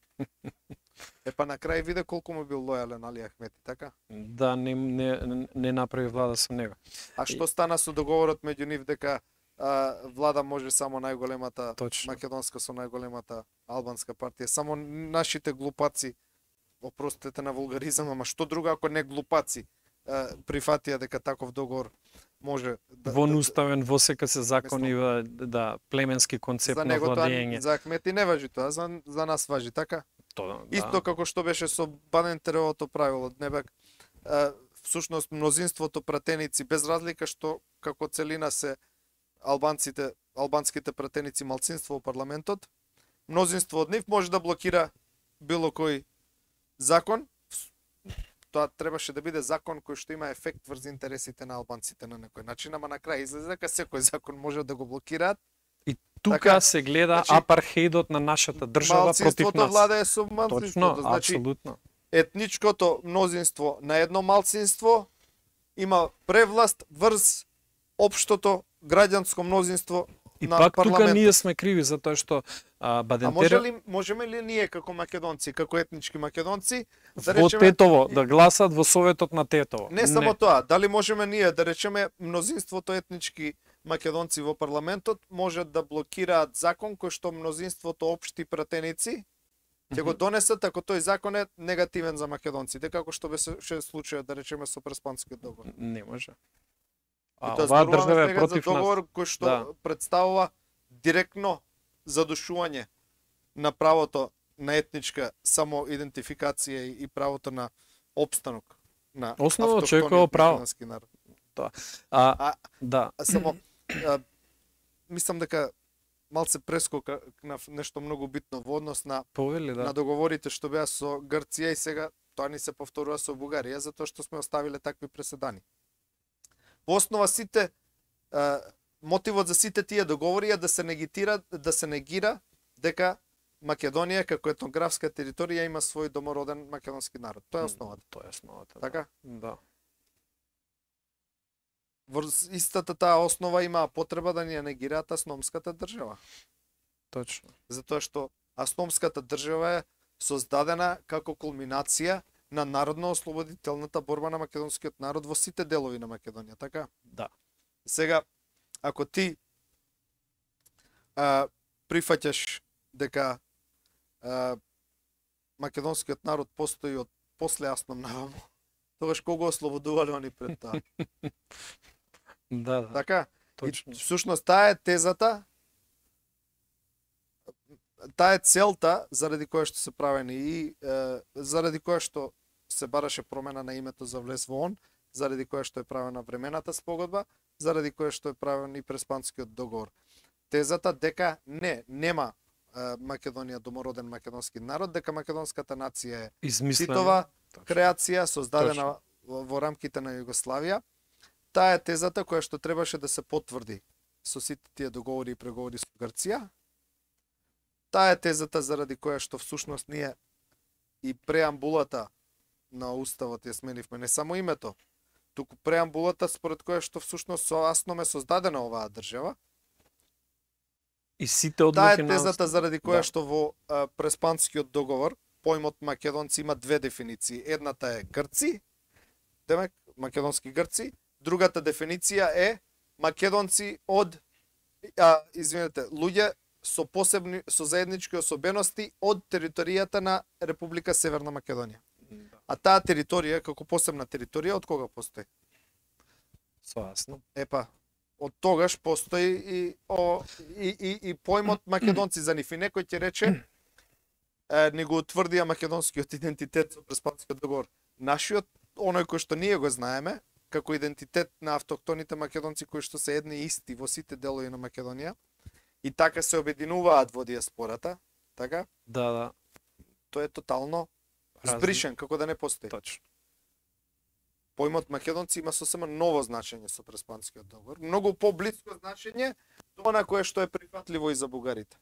Па на крај виде колку му бил лојален Али Ахмети, така? Да, не направи влада со него. А што стана со договорот меѓу нив дека влада може само најголемата македонска со најголемата албанска партија? Само нашите глупаци, опростете на вулгаризам, ама што друго ако не глупаци прифатија дека таков договор може да... Вонуставен во сека се закони, да, племенски концепт на владење. За Ахмети не важи тоа, за нас важи, така? Да. Исто како што беше со Банентеровото правило, небек всушност мнозинството пратеници, без разлика што како целина се албанските пратеници малцинство во парламентот, мнозинство од нив може да блокира било кој закон. Тоа требаше да биде закон кој што има ефект врз интересите на албанците на некој начин, ама на крај излезе дека секој закон може да го блокираат. И тука така, се гледа апархеидот на нашата држава против нас. Малцинството владее со малцинството. Точно, значи, апсолутно. Етничкото мнозинство на едно малцинство има превласт врз општото граѓанско мнозинство и на пак парламентот. тука ние сме криви затоа што Бадентеров... можеме ли ние како македонци, како етнички македонци да во Тетово да гласат во Советот на Тетово? Не само тоа, дали можеме ние да речеме мнозинството етнички македонци во парламентот можат да блокираат закон кој што мнозинството општи пратеници ќе го донесат ако тој закон е негативен за македонците, како што беше случајот да речеме со Преспанскиот договор? Не може. А оваа држава е против нас. Договор кој што представува директно задушување на правото на етничка самоидентификација и правото на опстанок на основно човеково право. Тоа. Да. Само мислам дека малце прескока на нешто многу битно во однос на на договорите што беа со Грција и сега тоа ни се повторува со Бугарија затоа што сме оставиле такви преседани. Во основа сите мотивот за сите тие договори е да се негира дека Македонија како етнографска територија има свој домороден македонски народ. Тоа е основата. Тоа е основата. Така? Да. врз истата таа основа има потреба да ни ја негираат асномската држава. Точно. Затоа што асномската држава е создадена како кулминација на народно-ослободителната борба на македонскиот народ во сите делови на Македонија, така? Да. Сега, ако ти прифаќаш дека македонскиот народ постои од после Асном наваму, тогаш кого ослободувале они пред тоа? Да, да. Така? Точно. И всушност таа е тезата, таа е целта заради која што се правени и заради која што се бараше промена на името за влез во ООН, заради која што е правена времената спогодба, заради која што е правен и Преспанскиот договор. Тезата дека нема Македонија домороден македонски народ, дека македонската нација е Измислено. Титова Точно. креација создадена во рамките на Југославија. Таа е тезата која што требаше да се потврди со сите тие договори и преговори со Грција. Таа е тезата заради која што всушност ние и преамбулата на уставот ја сменивме, не само името, туку преамбулата според која што всушност со Асном е создадена оваа држава. И сите одлуки Таа е на тезата заради која Да. што во Преспанскиот договор поимот македонци има две дефиниции. Едната е Грци, демек македонски Грци, другата дефиниција е македонци од луѓе со посебни со заеднички особености од територијата на Република Северна Македонија. Да. А таа територија како посебна територија од кога постои? Соасно. Епа, од тогаш постои и поимот македонци за нив. И некој ќе рече, ни го утврдија македонскиот идентитет со Преспанскиот договор. Нашиот, оној кој што ние го знаеме, како идентитет на автохтоните македонци кои што се едни и исти во сите делови на Македонија, и така се обединуваат во диаспората, така? Да, да. Тој е тотално Разлик. збришен, како да не постои. Точно. Поимот македонци има сосема ново значење со Преспанскиот договор, многу поблиско значење до она кое што е прифатливо и за бугарите.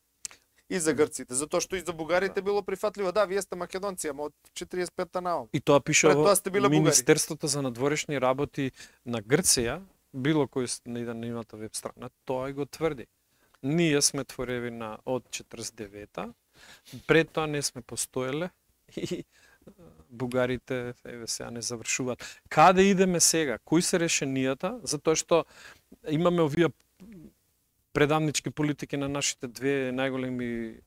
И за грците, затоа што и за бугарите било прифатливо. Да, вие сте македонци, ама од 45-та наом. И тоа пише Пред во тоа сте биле бугари. Министерството за надворешни работи на Грција, било кој не иде на нивната веб страна, тоа и го тврди. Ние сме творевина од 49-та, пред тоа не сме постоеле и бугарите еве сега не завршуваат. Каде идеме сега? Кои се решенијата? Затоа што имаме овие предавнички политики на нашите две најголеми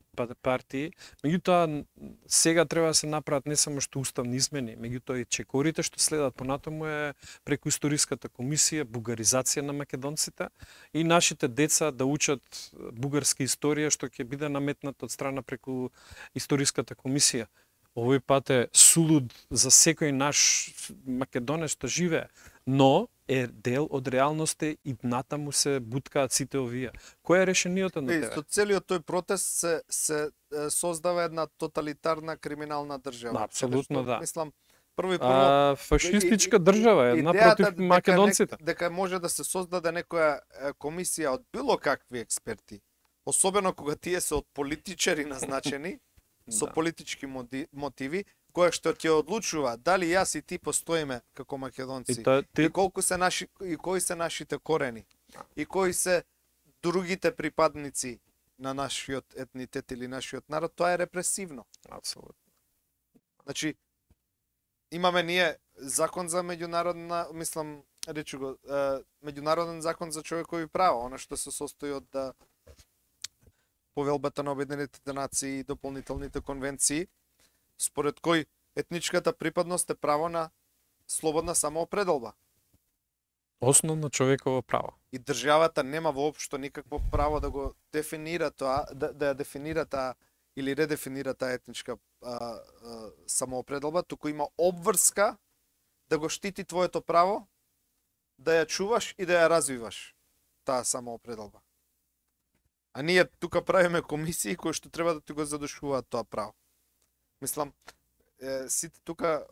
партии, меѓутоа сега треба да се направат не само што уставни измени, меѓутоа и чекорите што следат понатаму е преку историската комисија, бугаризација на македонците и нашите деца да учат бугарска историја што ќе биде наметната од страна преку историската комисија. Овој пат е сулуд за секој наш македонец што живее, но е дел од реалноста и натаму се буткаат сите овие. Кој е решението на тебе? Со целиот тој протест се создава една тоталитарна криминална држава. Апсолутно Каде што, да. Мислам, прво и прво Фашистичка држава, една идејата против македонците. дека може да се создаде некоја комисија од било какви експерти, особено кога тие се од политичари назначени, со Да. политички мотиви, која што ќе одлучува дали јас и ти постоиме како македонци, и колку се наши и кои се нашите корени, и кои се другите припадници на нашиот етнитет или нашиот народ, тоа е репресивно. Апсолутно. Значи, имаме ние закон за меѓународна, мислам, речу го, меѓународен закон за човекови права, она што се состои од Повелбата на Обединетите нации и дополнителните конвенции, според кој етничката припадност е право на слободна самоопределба. Основно човеково право. И државата нема воопшто никакво право да го дефинира тоа, да ја дефинира таа или редефинира таа етничка самоопределба, туку има обврска да го штити твоето право, да ја чуваш и да ја развиваш таа самоопределба. А ние тука правиме комисии кои што треба да ти го задушуваат тоа право. Мислам, сите тука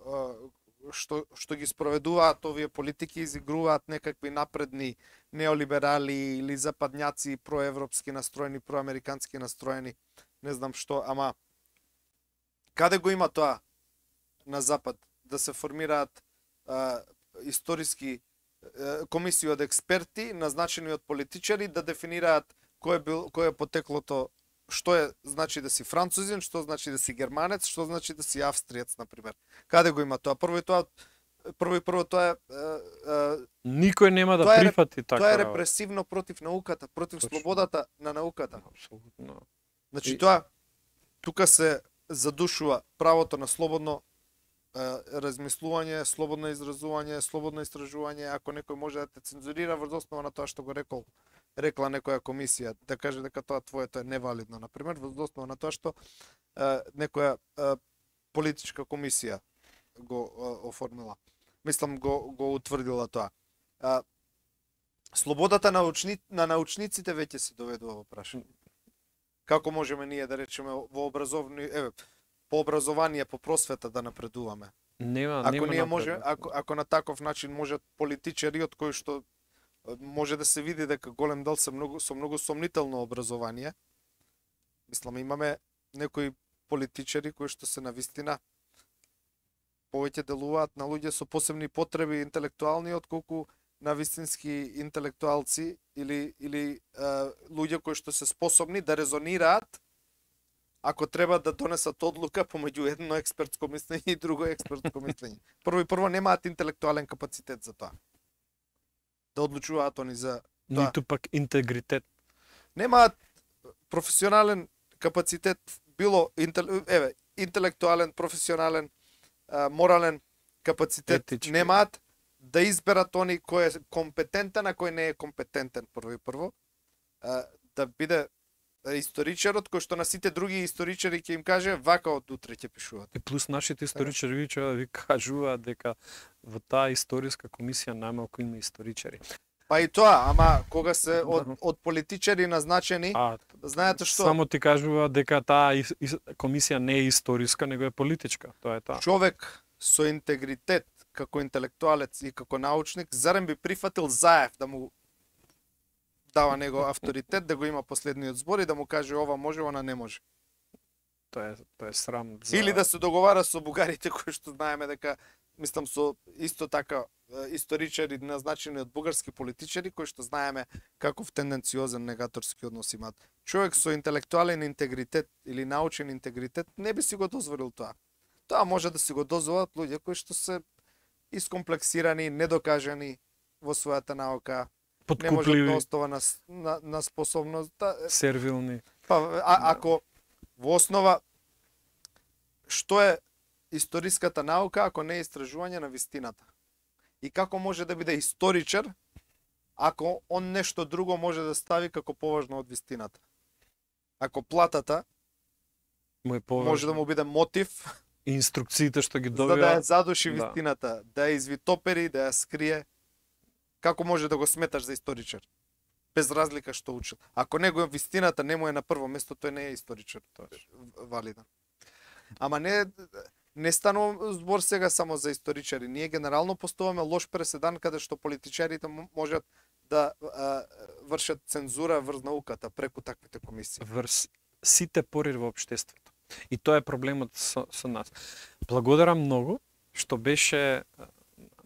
што ги спроведуваат овие политики изигруваат некакви напредни неолиберали или западњаци, проевропски настроени, проамерикански настроени, не знам што, ама каде го има тоа на запад да се формираат историски комисија од експерти назначени од политичари да дефинираат кој е потеклото, што е значи да си французин, што значи да си германец, што значи да си австриец на пример. Каде го има тоа? Прво тоа е Никој нема да прифати така. Тоа е репресивно против науката, против слободата на науката. Апсолутно. Значи тоа тука се задушува правото на слободно размислување, слободно изразување, слободно истражување. Ако некој може да те цензурира врз основа на тоа што го рекла некоја комисија, да каже дека тоа твоето е невалидно, на пример, врз основа на тоа што некоја политичка комисија го оформила. Мислам го утврдила тоа. Слободата на научниците веќе се доведува во прашање. Како можеме ние да речеме во по образование, по просвета да напредуваме? Ако на таков начин можат политичари од кои што може да се види дека голем дел со многу сомнително образование. Мислам, имаме некои политичари кои што се навистина повеќе делуваат на луѓе со посебни потреби интелектуални отколку на вистински интелектуалци или луѓе кои што се способни да резонираат ако треба да донесат одлука помеѓу едно експертско мислење и друго експертско мислење. Прво немаат интелектуален капацитет за тоа. Да одлучуваат они за тоа. Ниту пак интегритет. Немаат професионален капацитет, било интелектуален, професионален, морален капацитет. Етички. Немаат да изберат они кој е компетентен, а кој не е компетентен прво. Да биде историчарот кој што на сите други историчари ќе им каже вака од утре ќе пишуваат. И плюс нашите историчари ви кажуваат дека во таа историска комисија најмалку има историчари. Па и тоа, ама кога се од политичари назначени, знаете што? Само ти кажува дека таа комисија не е историска, него е политичка. Тоа е тоа. Човек со интегритет како интелектуалец и како научник, зарем би прифатил Заев да му дава него авторитет, да го има последниот збор и да му каже ова може, она не може. Тоа е срам. Или да се договара со бугарите кои што знаеме дека, мислам, со исто така историчари назначени од бугарски политичари кои што знаеме каков тенденциозен негаторски однос имаат. Човек со интелектуален интегритет или научен интегритет не би си го дозволил тоа. Тоа може да си го дозволат луѓе кои што се искомплексирани, недокажани во својата наука, не може да остава на способност да... сервилни. Ако во основа што е историската наука ако не е истражување на вистината? И како може да биде историчар ако он нешто друго може да стави како поважно од вистината? Ако платата може да му биде мотив, инструкциите што ги за добива, да ја задуши вистината, да ја извитопери, да ја скрие, како може да го сметаш за историчар? Без разлика што учил. Ако него вистината не му е на прво место, тој не е историчар, тоа е валиден. Ама не станува збор сега само за историчари. Ние генерално поставаме лош преседан каде што политичарите можат да вршат цензура врз науката преку таквите комисии. Врз сите пори во општеството. И тоа е проблемот со нас. Благодарам многу што беше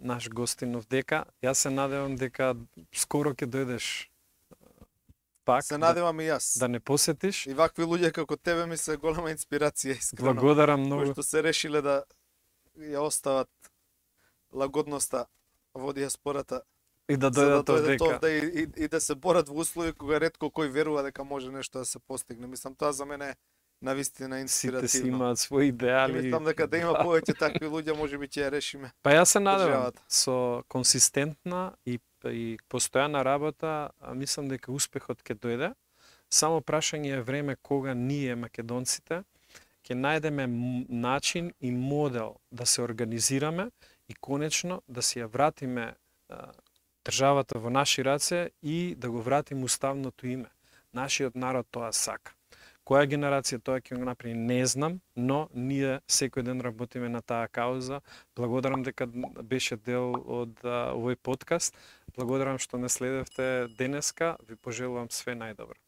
наш гостинов дека. Јас се надевам дека скоро ќе дојдеш пак. Се надевам и јас. Да не посетиш. И вакви луѓе како тебе ми се голема инспирација, искрено. Благодарам многу. Кои што се решиле да ја остават лагодноста во диаспората. И да дојдат овдека. И да се борат во услови кога ретко кој верува дека може нешто да се постигне. Мислам, тоа за мене навистина инспиративно. Сите си имаат своји идеали. Мислам дека да има повеќе такви луѓе, може би ќе ја решиме. Па јас се надевам со консистентна и постојана работа, мислам дека успехот ќе дојде. Само прашање е време кога ние македонците ќе најдеме начин и модел да се организираме и конечно да си ја вратиме државата во наши раце и да го вратиме уставното име. Нашиот народ тоа сака. Која генерација тоа ќе го направи, не знам, но ние секој ден работиме на таа кауза. Благодарам дека беше дел од овој подкаст. Благодарам што не следевте денеска. Ви пожелувам све најдобро.